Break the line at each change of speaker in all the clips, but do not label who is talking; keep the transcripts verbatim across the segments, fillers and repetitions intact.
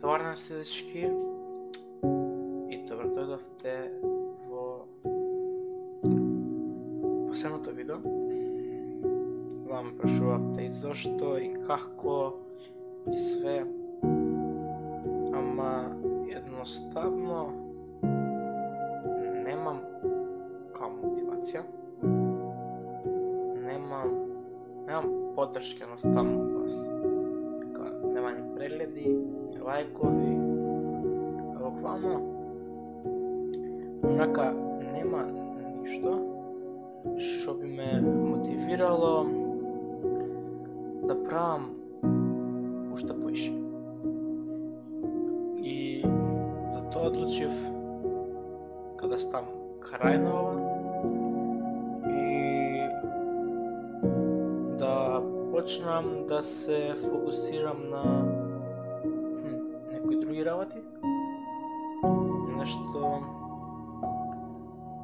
Добар ден следички и добро дојдовте во последното видео. Кога ме прашувавте и зошто и како и све, ама едноставно немам као мотивација, немам немам поддршка едноставно од вас. Нема ни прегледи, ни лајкови, буквално онака нема ништо што би ме мотивирало да правам уште поише. И затоа одлучив када стам крај на ова и да почнам да се фокусирам на хм, некои други работи, нешто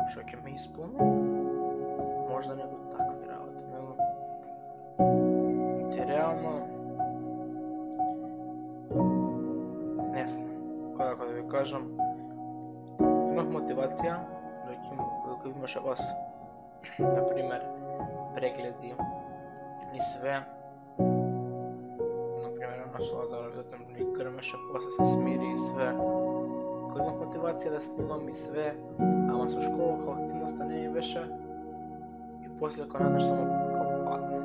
што ќе ме исполни, можда не до такви работи, него ти реално не знам, кога да ви кажам, имах мотивација, докато имаше вас, например, прегледи и све. Например, на Солазар видеото ми грмеше, после се смири и све. Кој имах мотивација да снимам и све, ама со школа као активноста не ми беше и после кога надеш само као падна.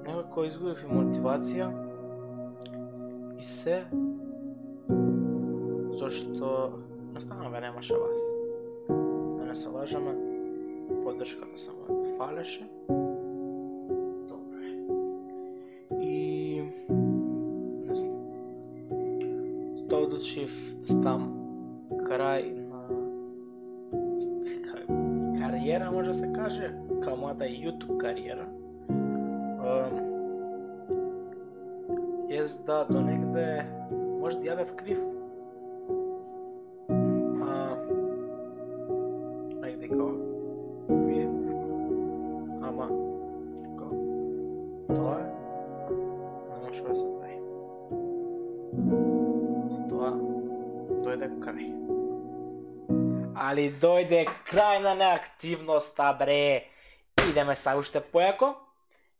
Некако изгубив и мотивација и се, зашто наставно ве немаше вас. Да не се лажаме, поддршката само фалеше. Тоа одлучив да стам крај на кариера, може да се каже, као мојата YouTube кариера. Јас да до негде може да ја бев крив. А негде као вие. Ама као тоа не може да се прави. Дојде крај. Али дојде крај на неактивноста, бре. Идеме са уште појако.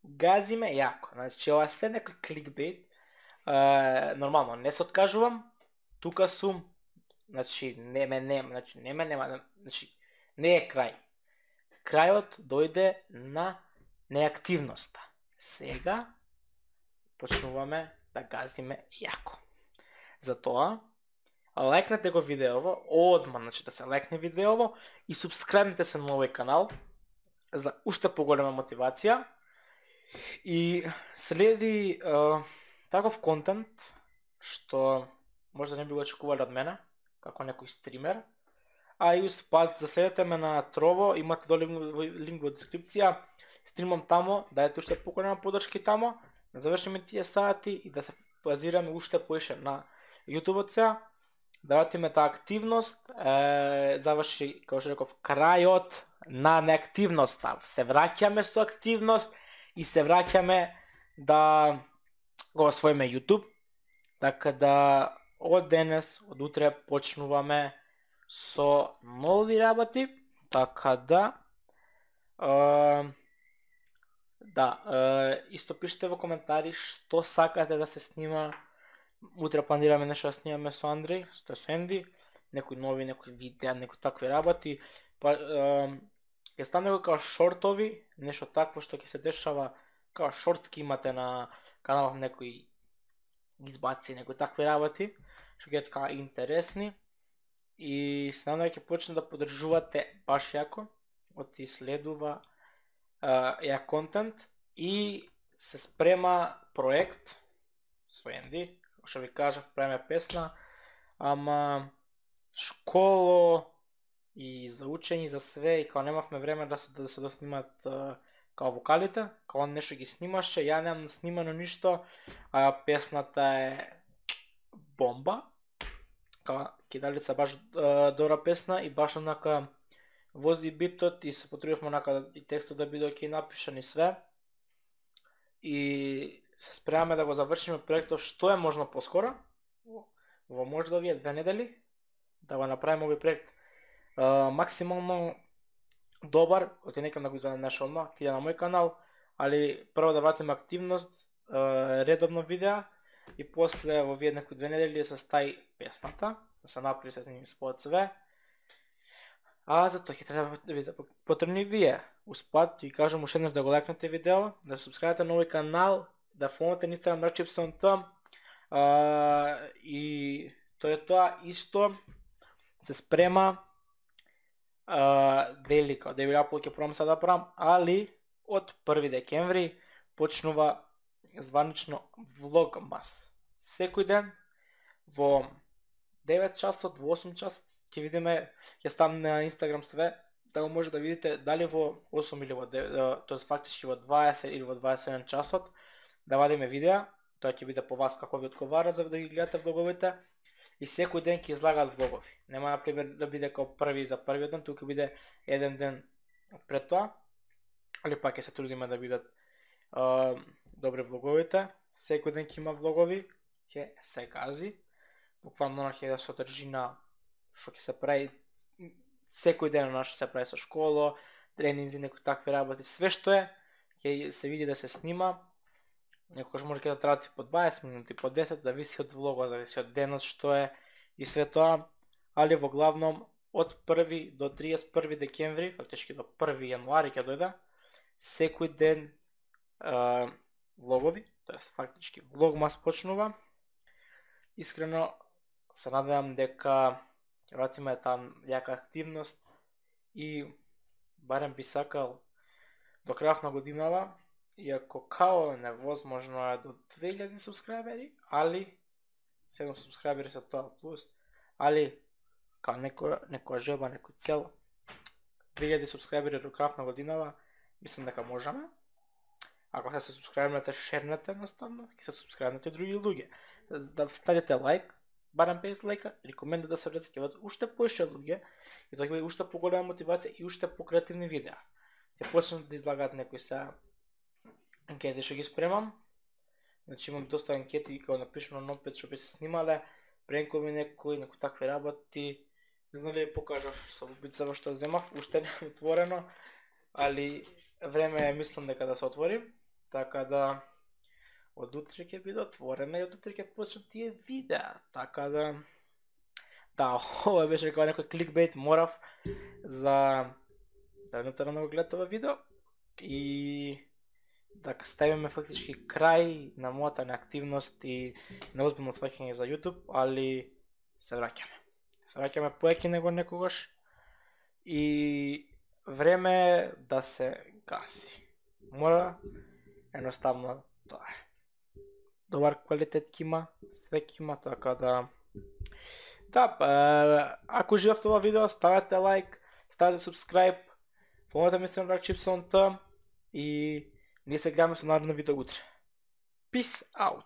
Газиме јако. Значи, ова све некој кликбейт. Е, нормално, не се откажувам. Тука сум. Значи, не ме нема. Значи, не ме нема. Значи, не е крај. Крајот дојде на неактивноста. Сега почнуваме да газиме јако. Затоа, лајкнете го видеово, одма, значи да се лајкне видеово и субскрајбнете се на овој канал за уште поголема мотивација и следи е, таков контент што може да не би го очекувале од мене, како некој стример, а и успат заследете ме на Trovo, имате доле линк во дескрипција, стримам тамо, дајте уште поголема поддршка тамо, да завршиме тие сати и да се базираме уште поише на YouTube-от сега, давате ме таа активност, е, заврши, како што реков, крајот на неактивноста. Се враќаме со активност и се враќаме да го освоиме YouTube, така да од денес, од утре почнуваме со нови работи, така да е, да, е, исто пишете во коментари што сакате да се снима. Утре планираме нешто да снимаме со Андреј, со Енди, некои нови, некои видеа, некои такви работи. Па ќе стане како шортови, нешто такво што ќе се дешава, како шортски имате на каналот, некои избаци, некои такви работи, што ќе така интересни. И се надевам ќе почне да поддржувате баш јако, од и следува ја контент и се спрема проект со Енди. Што ви кажав, правиме песна, ама школо и за учење, за све, и као немавме време да се, да се доснимат као вокалите, као он нешто ги снимаше, ја немам снимано ништо, а песната е бомба, као Кидалица баш добра песна и баш онака вози битот и се потрудивме онака и текстот да биде окей напишан и све. И се спремаме да го завршиме проектот што е можно поскоро, во можда овие две недели да го направиме овој проект uh, максимално добар. Оти некам да го извадам одма, ќе на мој канал, али прво да вратиме активност, uh, редовно видеа и после во овие некои две недели се стаи песната, да се направи се сними спот све. А за тоа ќе треба да ви потребни вие. Успат, ви кажам уште еднаш да го лайкнете видео, да се субскрабите на овој канал, да фоловате на Instagram DarkChipsOnTom. Uh, и тоа е тоа. Исто се спрема uh, делика, да ви апол ќе пробам сега да правам, али од први декември почнува званично влогмас. Секој ден во девет часот, во осум часот ќе видиме, ќе ставам на Instagram све, да го може да видите дали во осум или во девет, тоест фактички во дваесет или во дваесет и еден часот да вадиме видеа. Тоа ќе биде по вас како ви одговара за да ги гледате влоговите. И секој ден ќе излагаат влогови. Нема например да биде како први за првиот ден, тука биде еден ден пред тоа. Али пак ќе се трудиме да бидат uh, добри влоговите. Секој ден ќе има влогови, ќе се гази. Буквално ќе да се одржи на што ќе се прави секој ден на што се прави со школа, тренинзи, некои такви работи, све што е ќе се види да се снима. Некогаш може да трати по дваесет минути, по десет, зависи од влогот, зависи од денот што е и све тоа, али во главном од први до триесет и први декември, фактички до први јануари ќе дојде, секој ден е, влогови, тоест фактички влогмас почнува. Искрено се надевам дека ќе вратиме таа јака активност и барем би сакал до крајот на годинава, иако као невозможно е до две илјади субскрайбери, али седум субскрайбери се тоа плюс, али као некоја некоја желба, некој цел, две илјади субскрайбери до крајот на годинава, мислам дека можеме. Ако се субскрайбнете, шернете едноставно, ќе се субскрайбнете други луѓе. Да ставите лайк, барем петдесет лајка, или коментар да се врзат, ќе бидат уште поише луѓе и тоа ќе биде уште поголема мотивација и уште покреативни видеа. Ќе почнат да излагаат некои се анкети што ги спремам. Значи имам доста анкети кога напишано на опет што би се снимале, пренкови некои, некои такви работи. Не знам ли покажав со бубицава што земав, уште не е отворено, али време е мислам дека да се отвори, така да од утре ќе биде отворена и од утре ќе почнат тие видеа, така да да, ова беше како некој кликбейт, морав за да не да го гледате ова видео и да ставиме фактички крај на мојата неактивност и неозбилно сваќање за YouTube, али се враќаме. Се враќаме поеќе него некогаш и време е да се гаси. Мора, едноставно тоа е. Добар квалитет ќе има, све ќе има, така да да, ако живеевте ова видео, ставете лайк, ставете subscribe, фоловете ме на DarkChipsOnTom и ние се гледаме со наредно видео утре. Peace out!